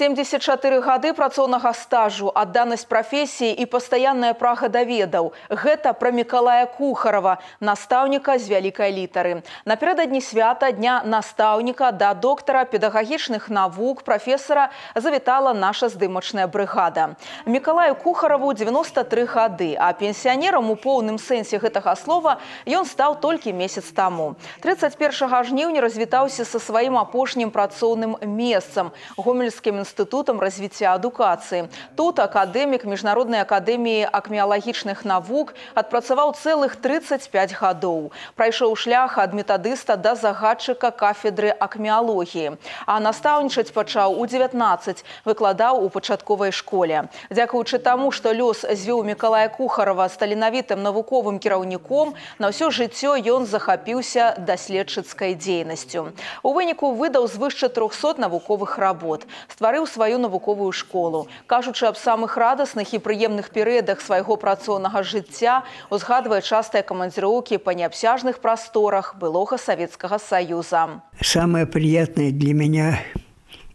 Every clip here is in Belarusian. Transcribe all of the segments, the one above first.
74 гады працоўнага стажу, адданасць прафесіі і пастаянная прага да ведаў. Гэта пра Мікалая Кухарава, настаўніка з вялікай літары. Напярэдадні свята Дня настаўніка да доктара педагагічных навук прафесара завітала наша здымачная брыгада. Мікалаю Кухараву 93 гады, а пенсіянерам у поўным сэнсе гэтага слова ён стаў толькі месяц таму. 31 жніўня развітаўся са сваім апошнім працоўным месцам – Гомельскім інстытутам развіцця адукацыі. Тут акадэмік Міжнароднай акадэміі акмеалагічных навук адпрацаваў цэлых 35 гадоў. Прайшоў шлях ад метадыста да загадчыка кафедры акмеалогіі. А настаўнічаць пачаў у 19, выкладаў у пачатковай школе. Дзякуючы таму, што лёс звёў Мікалая Кухарава з таленавітым навуковым кіраўніком, на ўсё жыццё ён захапіўся даследчыцкай дзейнасцю. У выніку выдаў звыш 400 навуковых работ. Стварыў сваю навуковую школу. Кажучы аб самых радасных і прыемных перыядах свайго працоўнага жыцця, узгадвае частыя камандзіроўкі па неабсяжных прасторах былога Советского Союза. Самое приятное для меня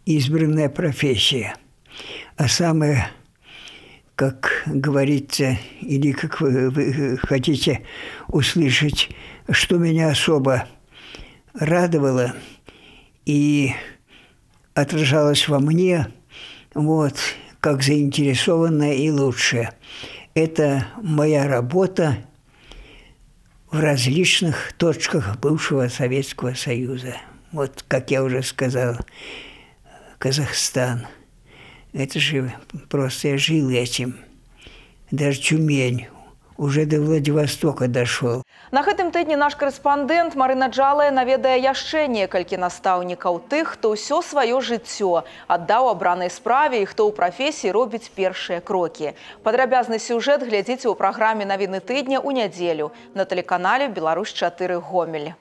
избранная профессия. А самое, как говорится, или как вы хотите услышать, что меня особо радовало и отражалось во мне, вот, как заинтересованное и лучшее. Это моя работа в различных точках бывшего Советского Союза. Вот, как я уже сказал, Казахстан. Это же просто я жил этим. Даже Тюмень. Уже до Владивостока дошел. На гэтым тыдні наш корэспандэнт Марына Джалая наведае яшчэ некалькі настаўнікаў, тых, хто ўсё сваё жыццё аддаў абранай справе і хто ў прафесіі робіць першыя крокі. Падрабязны сюжэт глядзіце ў праграме «Навіны тыдня» у нядзелю на тэлеканале «Беларусь 4 Гомель».